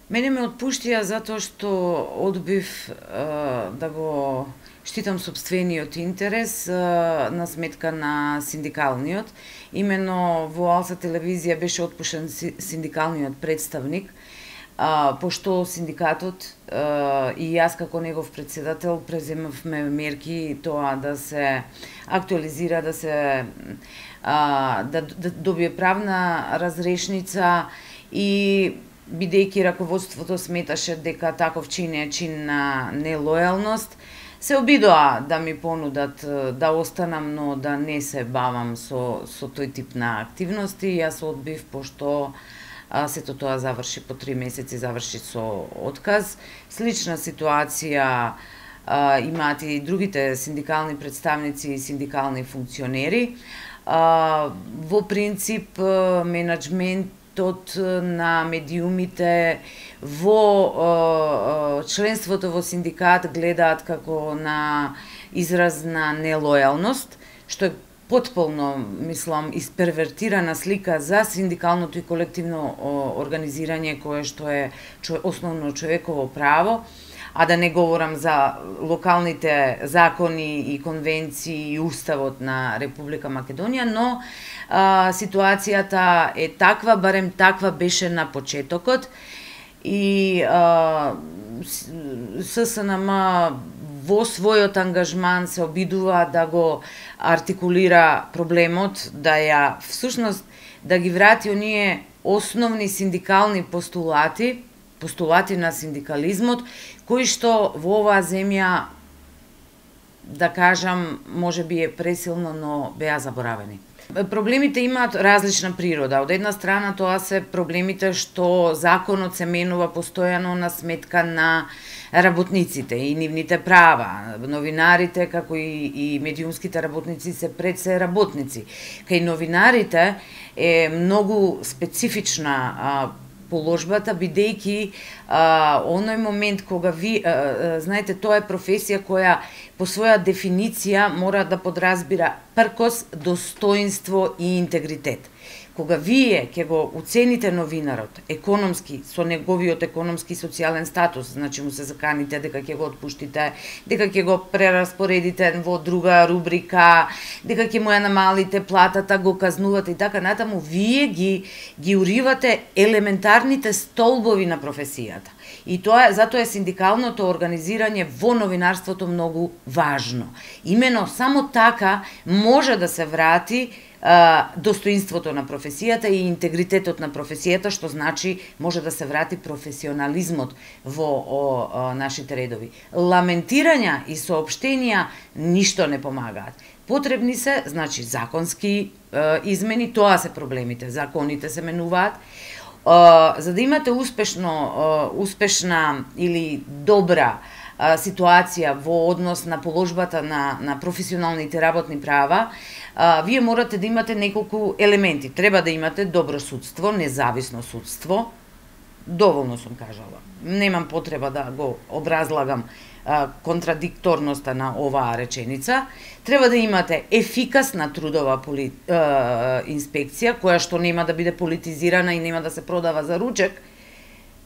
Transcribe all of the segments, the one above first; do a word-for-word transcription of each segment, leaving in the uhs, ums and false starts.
Мене ме отпуштија затоа што одбив а, да го штитам сопствениот интерес а, на сметка на синдикалниот. Имено во Алса телевизија беше отпушен синдикалниот представник, а, пошто синдикатот а, и јас како негов председател преземавме мерки тоа да се актуализира, да се а, да, да добие правна разрешница и бидејќи раководството сметаше дека таков чин е чин на нелојалност, се обидоа да ми понудат да останам, но да не се бавам со, со тој тип на активности. Јас одбив, пошто а, сето тоа заврши по три месеци, заврши со отказ. Слична ситуација а, имаат и другите синдикални представници и синдикални функционери. А, во принцип, менаџмент на медиумите во е, членството во синдикат гледаат како на израз на нелојалност, што е потполно, мислам, испервертирана слика за синдикалното и колективно организирање, кое што е основно човеково право, а да не говорам за локалните закони и конвенции и уставот на Република Македонија, но а, ситуацијата е таква, барем таква беше на почетокот, и а, ССНМ во својот ангажман се обидува да го артикулира проблемот, да ја всушност да ги врати оние основни синдикални постулати, постулати на синдикализмот, кои што во оваа земја, да кажам, може би е пресилно, но беа заборавени. Проблемите имаат различна природа. Од една страна тоа се проблемите што законот се менува постојано на сметка на работниците и нивните права. Новинарите, како и, и медиумските работници се пред се работници. Кај новинарите е многу специфична а, положбата, бидејќи оној момент кога ви, а, знаете, тоа е професија која по своја дефиниција мора да подразбира пркос, достоинство и интегритет. Кога вие ќе го уцените новинарот економски, со неговиот економски и социјален статус, значи му се заканите дека ќе го отпуштите, дека ќе го прераспоредите во друга рубрика, дека ќе му ја намалите платата, го казнувате и така натаму, вие ги ги уривате елементарните столбови на професијата. И тоа затоа е синдикалното организирање во новинарството многу важно. Имено само така може да се врати достоинството на професијата и интегритетот на професијата, што значи може да се врати професионализмот во о, о, нашите редови. Ламентирања и соопштенија ништо не помагаат. Потребни се, значи, законски е, измени, тоа се проблемите. Законите се менуваат. Е, за да имате успешно, е, успешна или добра ситуација во однос на положбата на, на професионалните работни права, а, вие морате да имате неколку елементи. Треба да имате добро судство, независно судство. Доволно сум кажала. Немам потреба да го образлагам а, контрадикторноста на оваа реченица. Треба да имате ефикасна трудова поли, а, инспекција, која што нема да биде политизирана и нема да се продава за ручек,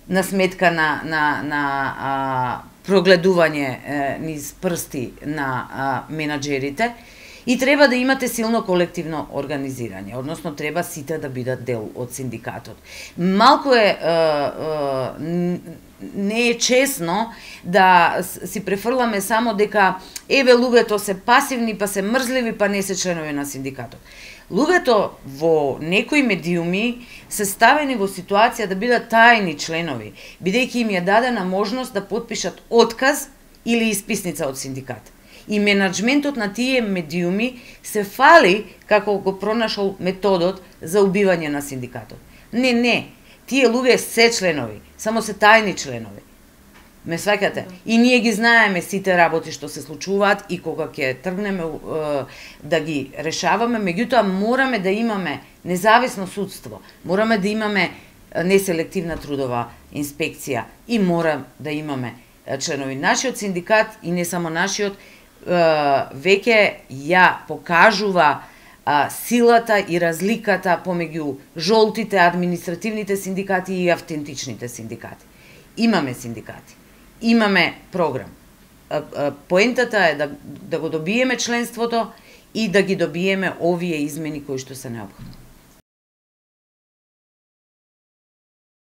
на сметка на, на, на а, прогледување е, низ прсти на а, менаџерите, и треба да имате силно колективно организирање, односно треба сите да бидат дел од синдикатот. Малку е, е, е не е честно да си префрламе само дека еве луѓето се пасивни, па се мрзливи, па не се членови на синдикатот. Луѓето во некои медиуми се ставени во ситуација да бидат тајни членови, бидејќи им е дадена можност да потпишат отказ или исписница од синдикат. И менаџментот на тие медиуми се фали како го пронашол методот за убивање на синдикатот. Не, не, тие луѓе се членови, само се тајни членови. Ме сваќате? И ние ги знаеме сите работи што се случуваат и кога ќе тргнеме е, да ги решаваме, меѓутоа мораме да имаме независно судство, мораме да имаме неселективна трудова инспекција и мора да имаме членови. Нашиот синдикат и не само нашиот веќе ја покажува а, силата и разликата помеѓу жолтите административните синдикати и автентичните синдикати. Имаме синдикати, имаме програм. А, а, поентата е да, да го добиеме членството и да ги добиеме овие измени кои што се необходни.